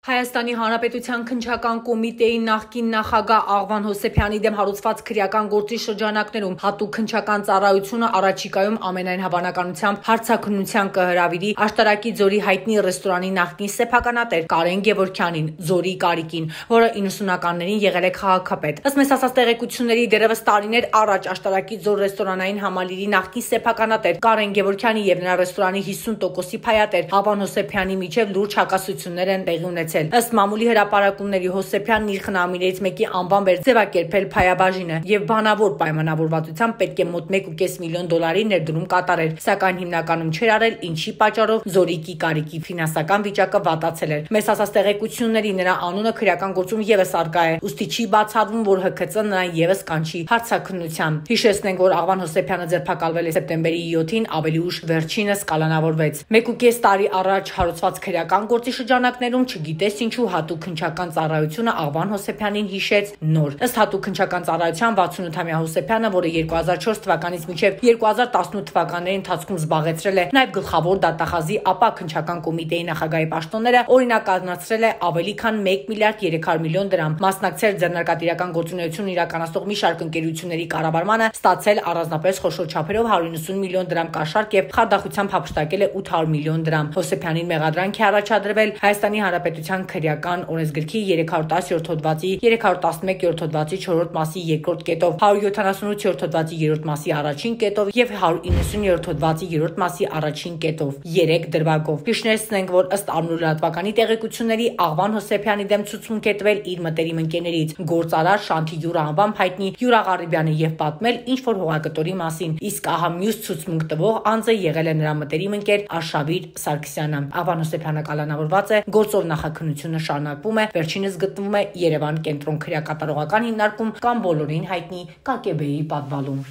Հայաստանի Հանրապետության քննչական կոմիտեի նախկին նախագահ Աղվան Հովսեփյանի դեմ հարուցված քրեական գործի շրջանակներում հատուկ քննչական ծառայությունը առաջիկայում ամենայն հավանականությամբ հարցաքննության կհրավիրի Աշտարակի Ձորի հայտնի ռեստորանի նախկին սեփականատեր Կարեն Գևորգյանին, Զորի Կարիկին, որը 90-ականներին եղել է քաղաքապետ։ Ըստ մեզ ասած տեղեկությունների, դեռևս տարիներ առաջ Աշտարակի Ձոր ռեստորանային համալիրի նախկին սեփականատեր Կարեն Գևորգյանի եւ նրա ռեստորանի 50%-ի փայատեր Աղվան Հովսեփյանի միջև լուրջ հակասություններ են տեղի ունեցել։ Ըստ մամուլի հրապարակումների Հովսեփյանն իր խնամիներից մեկի անվամբ էր ձևակերպել փայաբաժինը եւ բանավոր պայմանավորվածությամբ պետք է մոտ 1.5 միլիոն դոլարի ներդրում կատարեր, սակայն հիմնականում չէր արել, ինչի պատճառով Զորիկի Կարիկի ֆինանսական վիճակը վատացել էր։ Մեզ ասած տեղեկությունների նրա անունը քրեական գործում եւս արկա է, ուստի չի բացառվում, որ ՀՔԾ նրան եւս կանչի հարցաքննության։ Հիշեցնենք, որ Աղվան Հովսեփյանը ձերբակալվել է սեպտեմբերի 7-ին, ավելի ուշ վերջինս կալանավորվեց։ 1.5 տարի առաջ հարուցված քրեական գործի շրջանակներում չգիտես ինչու հատուկ քննչական ծառայությունը Աղվան Հովսեփյանին հիշեց նոր։ Ըստ հատուկ քննչական ծառայության 68-ամյա Հովսեփյանը, որը 2004 թվականից մինչև 2018 թվականների ընթացքում զբաղեցրել է նաև գլխավոր դատախազի ԱՊԱ քննչական կոմիտեի նախագահի պաշտոնները, օրինականացրել է ավելի քան 1 միլիարդ 300 միլիոն դրամ, մասնակցել ձեռնարկատիրական գործունեություն իրականացնող մի շարք ընկերությունների կառավարմանը, ստացել առանձնապես խոշոր չափերով 190 միլիոն դրամ կաշառք եւ խարդախությամբ հափշտակել է 800 միլիոն դրամ։ Հովսեփյանին մեղադրանք է առաջադրվել Հայաստանի Հանրապետության քրեական օրենսգրքի 310-րդ հոդվածի 311-րդ հոդվածի 4-րդ մասի 2-րդ կետով, 178-րդ հոդվածի 3-րդ մասի առաջին կետով եւ 190-րդ հոդվածի 3-րդ մասի առաջին կետով, 3 դրվագով։ Հիշեցնենք, որ ըստ առնուրատվականի տեղեկությունների Աղվան Հովսեփյանի դեմ ցուցմունք է տվել իր մտերիմ ընկերներից գործարար Շանթի Յուրա անվամբ հայտնի Յուրա Ղարիբյանը եւ պատմել ինչ որ հողագտորի մասին, իսկ ահա մյուս ցուցմունք տվող անձը եղել է նրա մտերիմ ընկեր Արշավիր Սարգսյանը։ Աղվան Հովսեփյանը կալանավորված է, գործով նախաքննությունը շարունակվում է, վերջինս գտնվում է Երևան կենտրոն քրեակատարողական հիմնարկում կամ բոլորին հայտնի ԿԿԲ-ի պատվալում։